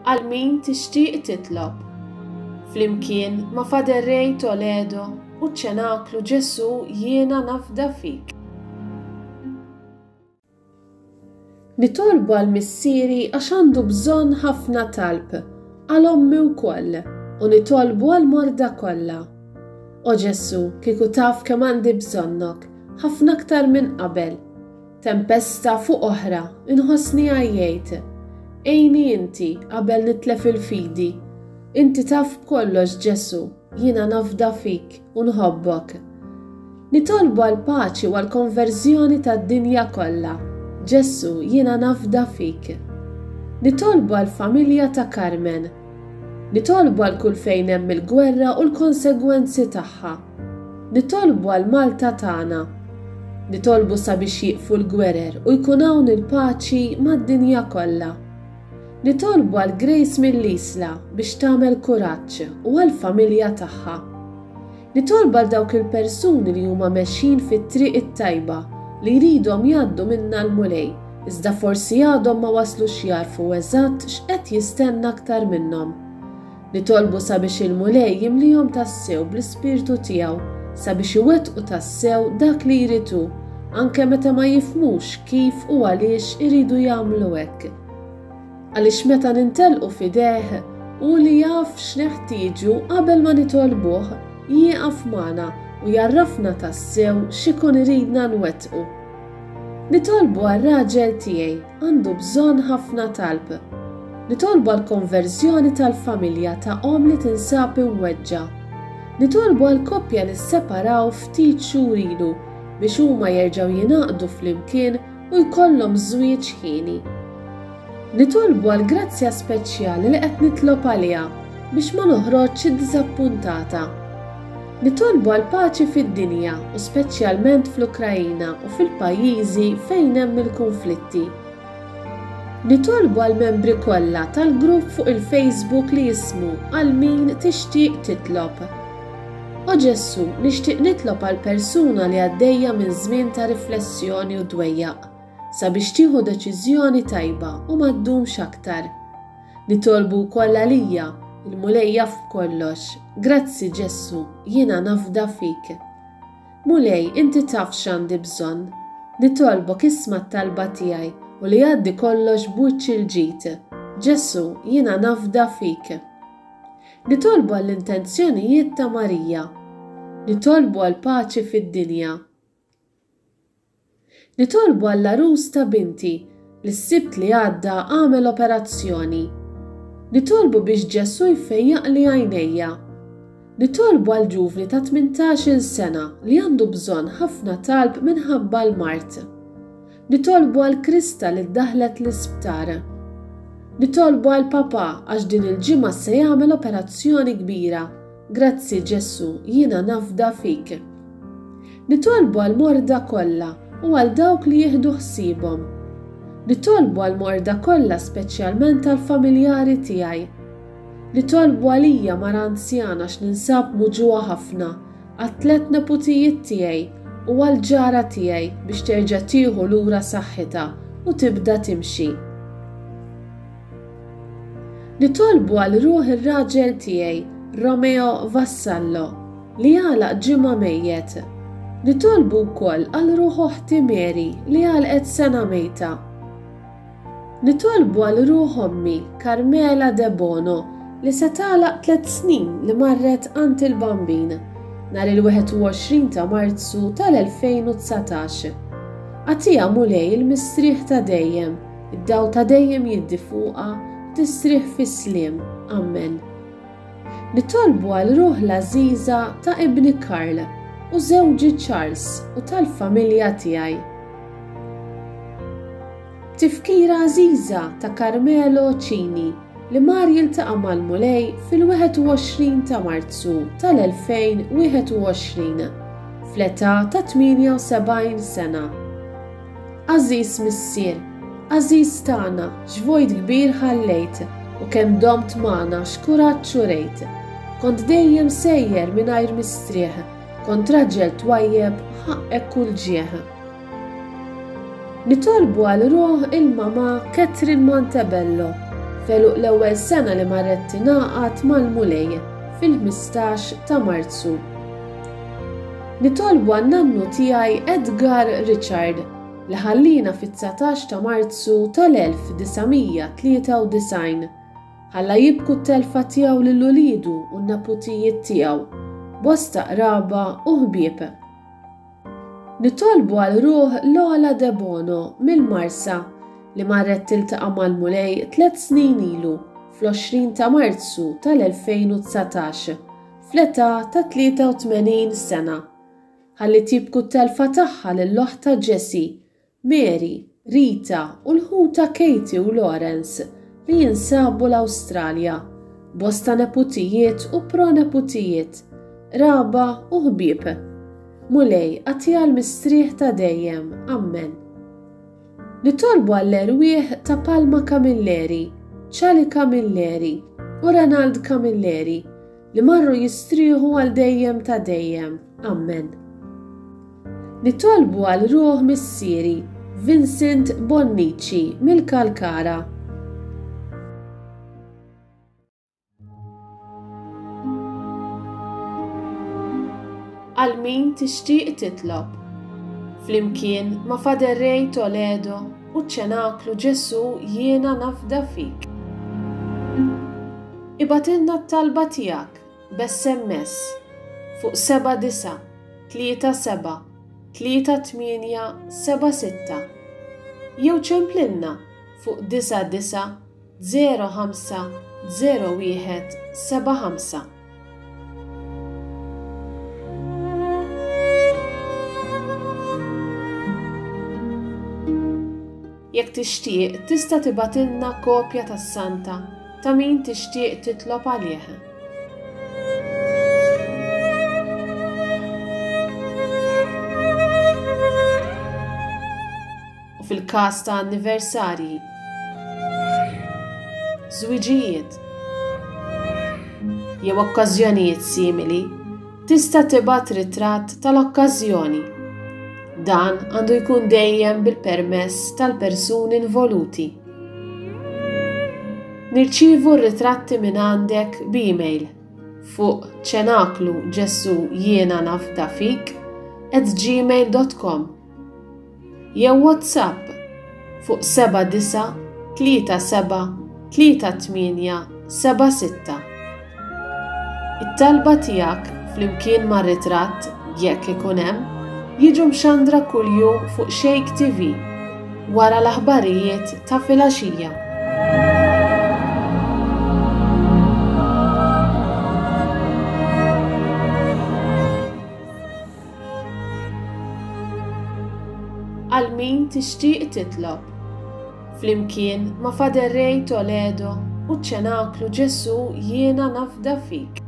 Għal min tixtieq titlob. Flimkien ma' Father Ray Toledo u ċ-Ċenaklu Ġesù Jiena Nafda Fik. Nitolbu għal missieri għax għandu bżonn ħafna talb, għal ommi wkoll, u nitolbu għall-morda kollha. O Ġesù, kieku taf kemm għandi bżonnok, ħafna aktar minn qabel. Tempesta fuq oħra, inħossni għajjejt. Għinni inti qabel nitlef il-fidi. Inti taf b'kollox Ġesù, jiena nafda fik u nħobbok. Nitolbu għall-paċi u għall-konverżjoni tad-dinja kollha. Ġesù, jiena nafda fik. Nitolbu għall-familja ta' Carmen. Nitolbu għal kull fejn hemm il-gwerra u l-konsegwenzi tagħha. Nitolbu għal Malta tagħna. Nitolbu sabiex jieqfu l-gwerer u jkun hawn il-paċi mad-dinja kollha. Nitolbu għal Grace mill-Isla biex tagħmel kuraġġ u għall-familja tagħha. Nitolbu għal dawk il-persuni li huma mexjin fit-triq it-tajba li jridhom jgħaddu minnha l-Mulej iżda forsi għadhom ma waslux jagħrfu eżatt x'qed jistenna aktar minnhom. Nitolbu sabiex il-Mulej jimlihom tassew bl-Ispirtu tiegħu sabiex iwettqu tassew dak li jrid hu, anke meta ma jifhmux kif u għaliex iridu jagħmlu hekk. Għaliex meta nintelqu f'idejh, hu li jaf x'neħtieġu qabel ma nitolbuh, jieqaf magħna u jgħarrafna tassew x'ikun iridna nwettqu. Nitolbu għar-raġel tiegħi, għandu bżonn ħafna talb. Nitolbu għall-konverżjoni tal-familja ta' omm li tinsab imweġġa'. Nitolbu għal koppja li sseparaw ftit xhur ilu biex huma jerġgħu jingħaqdu flimkien u jkollhom żwieġ hieni. Nitolbu għall-grazzja speċjali li qed nitlob għaliha biex ma noħroġx iddiżappuntata. Nitolbu għall-paċi fid-dinja u speċjalment fl-Ukraina u fil-pajjiżi fejn hemm il-kunflitti. Nitolbu għall-membri kollha tal-grupp fuq il-Facebook li jismu Għal Min Tixtieq Titlob. O Ġesù, nixtieq nitlob għal persuna li għaddejja minn żmien ta' riflessjoni u dwejjaq, sabiex tieħu deċiżjoni tajba u ma ddumx aktar. Nitolbu wkoll għalija, il-Mulej jaf b'kollox. Grazzi Ġesù, jiena nafda fik. Mulej, inti taf x'għandi bżonn. Nitolbok isma' t-talba tiegħi u li jgħaddi kollox b'wiċċ il-ġid. Ġesù, jiena nafda fik. Nitolbu għall-intenzjonijiet ta' Marija. Nitolbu għall-paċi fid-dinja. Nitolbu għall-għarus ta' binti li s-Sibt li għadda għamel operazzjoni. Nitolbu biex Ġesù jfejjaqli għajnejja. Nitolbu għal ġuvni ta' 18-il sena li għandu bżonn ħafna talb minħabba l-mard. Nitolbu għal Krista li ddaħlet l-isptar. Nitolbu għal papà għax din il-ġimgħa se jagħmel operazzjoni kbira. Grazzi Ġesù, jiena nafda fik. Nitolbu għall-morda kollha u għal dawk li jieħdu ħsiebhom. Nitolbu għall-morda kollha speċjalment għall-familjari tiegħi. Nitolbu għalija mara anzjana għax ninsab muġugħa ħafna, għat-tlett neputijiet tiegħi u għall-ġara tiegħi biex terġa' tieħu lura saħħitha u tibda timxi. Nitolbu għal ruħ ir-raġel tiegħi, Romeo Vassallo, li għalaq ġimgħa mejjet. Nitolbu wkoll għal ruħ oħti Mary li għalqet sena mejta. Nitolbu għal ruħ ommi, Carmela Debono, li se tagħlaq tlett snin li marret għand il-Bambin, nhar il-21 ta' Marzu tal-2019. Agħtiha Mulej il-mistrieħ ta' dejjem. Id-dawl ta' dejjem jiddi fuqha, tistrieħ fis-sliem. Ammen. Nitolbu għal ruħ l-għażiża ta' ibni Karl u żewġi Charles u tal-familja tiegħi. Tifkira għażiża ta' Carmelo Cini li mar jiltaqa' mal-Mulej fil-21 ta' Marzu tal-2021 fl-età ta' 78 sena. Għażiż Missier, għażiż tagħna, x'vojt kbir ħallejt u kemm domt magħna x'kuraġġ urejt. Kont dejjem sejjer mingħajr mistrieħ, kont raġel twajjeb ħaqqek kull ġieħ. Nitolbu għal ruħ il-mamà Catherine Montebello. f'għeluq l-ewwel sena li marret tingħaqad mal-Mulej fil-15 ta' Marzu. Nitolbu għan-nannu tiegħi Edgar Richard li ħallina fit-19 ta' Marzu tal-1993. Ħalla jibku t-telfa tiegħu lil uliedu u n-neputijiet tiegħu, bosta qraba u ħbieb. Nitolbu għal ruħ Lola Debono mill-Marsa li marret tiltaqa' mal-Mulej tlett snin ilu fl-20 ta' Marzu tal-2019 fl-età ta' 83 sena. Ħalli tibku t-telfa tagħha lil oħtha Jessie Mary, Rita u l-ħuta Katie u Lawrence li jinsabu l-Awstralja, bosta neputijiet u proneputijiet, qraba u ħbieb. Mulej, agħtiha l-mistrieħ ta' dejjem. Ammen. Nitolbu għall-erwieħ ta' Palma Camilleri, Ċali Camilleri u Renald Camilleri li marru jistrieħu għal dejjem ta' dejjem. Ammen. Nitolbu għal ruħ missieri, Vincent Bonnici mill-Kalkara. Għal min tixtieq titlob. Flimkien ma' Father Ray Toledo u ċ-Ċenaklu Ġesù Jiena Nafda Fik. Ibgħatilna t-talba tiegħek b'SMS fuq 79 37 38 76 jew ċemplilna fuq 99 05 01 75. Jekk tixtieq tista' tibgħatilna kopja tas-santa ta' min tixtieq titlob għalih. U fil-każ ta' anniversarji, żwiġijiet, jew okkażjonijiet simili, tista' tibgħat ritratt tal-okkażjoni. Dan għandu jkun dejjem bil-permess tal-persuni involuti. Nirċievu r-ritratti minn għandek b'email fuq ċenaklu ġesu jiena nafda fik at gmail.com jew WhatsApp fuq 79 37 38 76. It-talba tiegħek flimkien mar-ritratt, jekk ikun hemm, jiġu mxandra kuljum fuq Shake TV wara l-aħbarijiet ta' filgħaxija. Għal min tixtieq titlob. Flimkien ma' Father Ray Toledo u ċ-Ċenaklu Ġesù Jiena Nafda Fik.